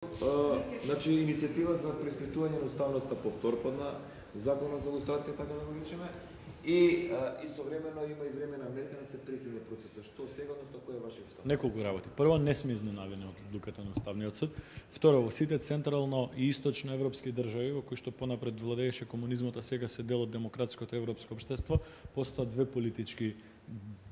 Значи, иницијатива за преиспитување на уставноста повторпадна законот за лустрација, така да го речеме, и истовремено има и времена мерка да се прекине процесот. Што сега, односно, кој е вашиот став? Неколку работи. Прво, не сме изненадени од одлуката на Уставниот суд. Второ, во сите централно и источно европски држави, во кои што понапред владееше комунизмот, а сега се дел од демократското европско општество, постојат две политички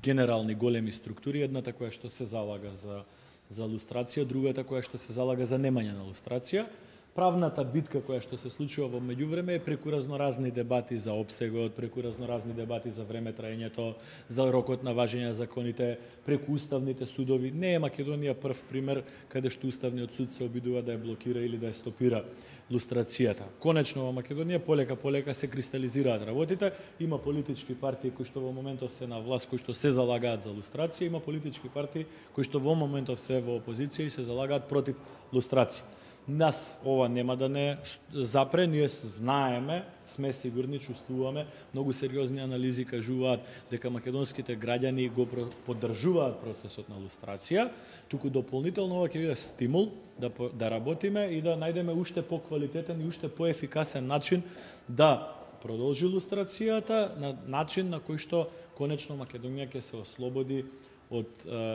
генерални големи структури, едната која што се залага за лустрација, другата која што се залага за немање на лустрација. Правната битка која што се случува во меѓувреме е преку разноразни дебати за опсегот, преку разноразни дебати за време траењето, за рокот на важење на законите, преку уставните судови. Не е Македонија прв пример каде што Уставниот суд се обидува да ја блокира или да ја стопира лустрацијата. Конечно во Македонија полека се кристализираат работите, има политички партии кои што во моментов се на власт, кои што се залагаат за лустрација, има политички партии кои што во моментов се во опозиција и се залагаат против лустрација. Нас ова нема да не запре, ние знаеме, сме сигурни, чувствуваме, многу сериозни анализи кажуваат дека македонските граѓани го поддржуваат процесот на лустрација, туку дополнително ова ќе биде стимул да работиме и да најдеме уште поквалитетен и уште поефикасен начин да продолжи лустрацијата, на начин на кој што конечно Македонија ќе се ослободи од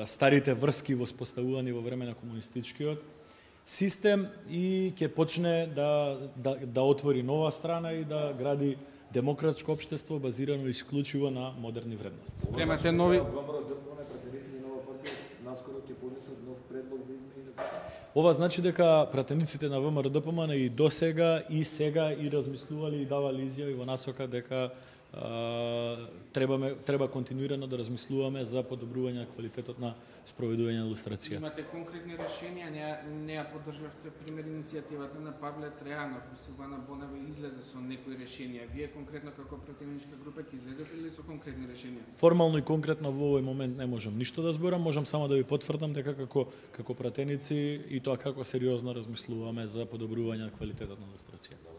старите врски воспоставувани во време на комунистичкиот систем и ќе почне да отвори нова страна и да гради демократско општество базирано исклучиво на модерни вредности. Премате нови наскоро ќе поднесат нов предлог за измени на закон. Ова значи дека пратениците на ВМРО-ДПМН и досега и сега и размислувале и давале изјави во насока дека треба континуирано да размислуваме за подобрување на квалитетот на спроведување на лустрацијата. Имате конкретни решенија, не ја поддржавте пример иницијативата на Павле Тројанов, Силвана Бонева излезе со некои решенија. Вие конкретно како пратеничка група ќе излезете ли со конкретни решенија? Формално и конкретно во овој момент не можам ништо да зборам, можам само да ви потврдам дека како пратеници и тоа како сериозно размислуваме за подобрување на квалитетот на лустрацијата.